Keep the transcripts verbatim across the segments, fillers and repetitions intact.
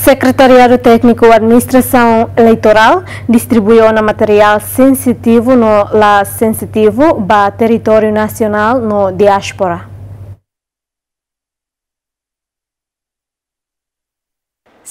Sekretariadu Tékniku Administrasaun Eleitorál distribui ona materiál sensitivu no la sensitivu ba territóriu nasionál no diáspora.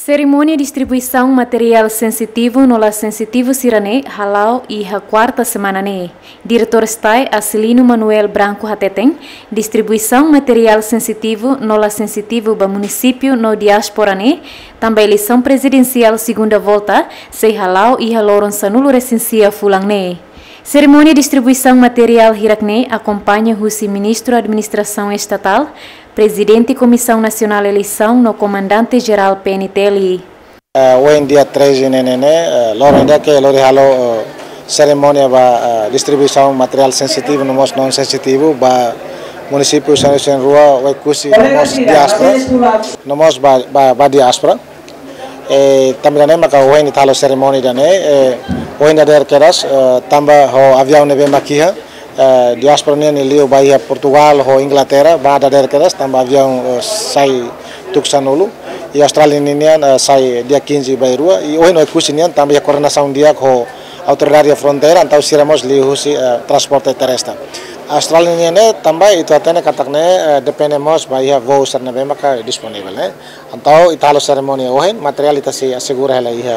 Serimónia distribuisaun materiál sensitivu no la sensitivu sira-ne'e hala'o iha kuarta semana ne'e. Diretór STAE Acilino Manuel Branco hateten, distribuisaun materiál sensitivu no la sensitivu ba munisípiu no diáspora ne'e tanba eleisaun prezidensiál segunda volta sei hala'o iha loron sanulu-resin-sia fulan ne'e. Serimónia distribuisaun materiál hirak-ne'e akompaña husi Ministru Administrasaun Estatál, Prezidente Komisaun Nasionál Eleisaun no Komandante Jerál P N T L. Eh, ohin dia treze ne'e, ne'e, ne'e, eh, loron ida ke lori halo, eh, serimónia ba, eh, distribuisaun materiál sensitivu no mós non sensitivu ba munisípiu sanulu-resin-rua, Oekusi no mós diáspora, no mós ba, ba, ba diáspora. Eh, tanba ida-ne'e maka ohin ita halo serimónia ida-ne'e, eh, ohin dadeer kedas, eh, tanba ho aviaun ne'ebé mak iha, eh, diáspora nian nia liu ba iha Portugal ho Inglaterra, ba dadeer kedas, tanba aviaun, eh, sai tuku sanulu, i Austrália ninian, eh, sai dia quinze ba rua, i ohin Oekusi nian, tanba iha koordenasaun di'ak ho autoridade fronteira, entaun sira mós liuhusi, eh, transporte terrestre. Austrália nian ne'e, tanba ita hatene katak ne'e, eh, depende mós ba iha voo sira ne'ebé maka disponivel, ne'e. Entaun, ita halo serimónia ohin, materiál ita sei asegura hela iha,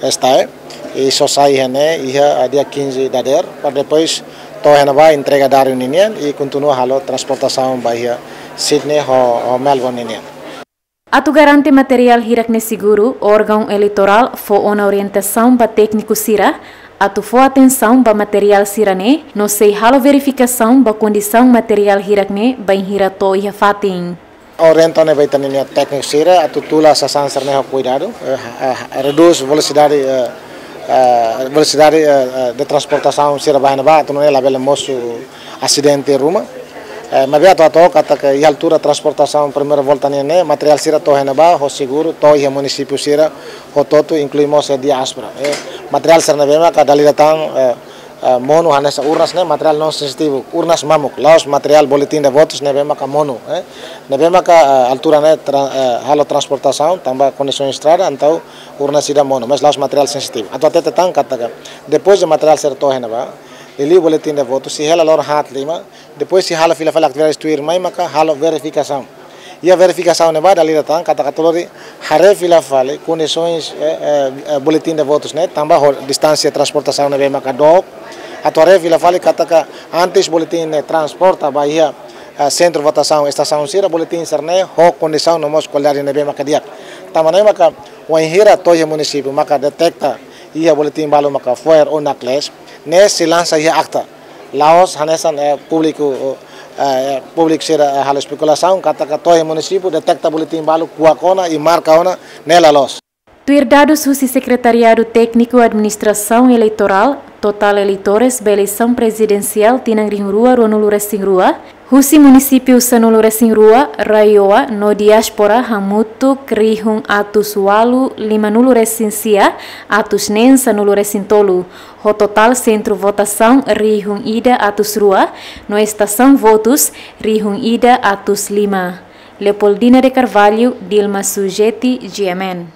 eh, STAE, i só sai iha ne'e, iha, eh, dia quinze dadeer, para depois to'o iha ne'ebá entrega diáriu ninian, i kontinua halo transportasaun ba iha Sydney ho, ho Melbourne ninian. Atu garante materiál hirak-ne'e seguru, órgaun eleitorál fó ona orientasaun ba tékniku sira, atu fó atensaun ba materiál sira-ne'e, no sei halo verifikasaun ba kondisaun materiál hirak-ne'e bainhira to'o iha fatin. Orienta ona ba ita-nia tékniku sira atu tula sasán sira-ne'e ho kuidadu, eh, eh, redús velosidade, eh, eh, velosidade, eh, eh, de transportasaun sira ba iha ne'ebá, atu nune'e labele mosu asidente ruma. Eh, maibé atu hato'o katak iha altura transportasaun primeira volta nian ne'e, materiál sira to'o iha ne'ebá ho seguru, to'o iha munisípiu sira hotu-hotu, inklui mós iha diáspora. Eh, materiál sira ne'ebé maka dala ida tan, eh, eh, monu hanesan urnas ne'e materiál non sensitivu, urnas mamuk, la'ós materiál boletin de votus ne'ebé maka monu, eh. Ne'ebé maka, eh, altura ne'e tra-, eh, halo transportasaun, tanba kondisaun estrada, entaun urnas ida monu, mas la'ós materiál sensitivu. Atu hatete tan katak, depois de materiál sira to'o iha ne'ebá, liuliu boletin de votus, sei hela loron haat lima, depois sei halo fila fali atividade tuirmai maka halo verifikasaun. Iha verifikasaun ne'ebá dala ida tan katak atu lori haree fila fali kondisaun, eh, eh, eh, boletin de votus ne'e, tanba ho distánsia transportasaun ne'ebé maka dook, atu haree fila fali katak antes boletin ne'e transporta ba iha, eh, sentru votasaun, estasaun sira, boletin sira-ne'e ho kondisaun no mós kualidade ne'ebé maka di'ak. Tanba ne'e maka wainhira to'o iha munisípiu maka deteta iha boletin balu maka foer ou naklees, ne'e sei lansa iha akta. La'ós hanesan, eh, públiku, eh, públiku sira, eh, halo espekulasaun katak to'o iha munisípiu deteta boletin balu, kuak ona i marka ona, ne'e la loos. Tuir dadus husi Sekretariadu Tékniku Administrasaun Eleitorál, totál eleitores ba eleisaun prezidensiál tinan rihun rua ruanulu-resin-rua, husi munisípiu sanulu-resin-rua, RAEOA no diáspora hamutuk rihun atus ualu limanulu-resin-sia atus neen sanulu-resin-tolu, ho totál sentru votasaun rihun ida atus rua, no estasaun votus rihun ida atus lima. Leopoldina de Carvalho, Dilma Sujeti, G M N.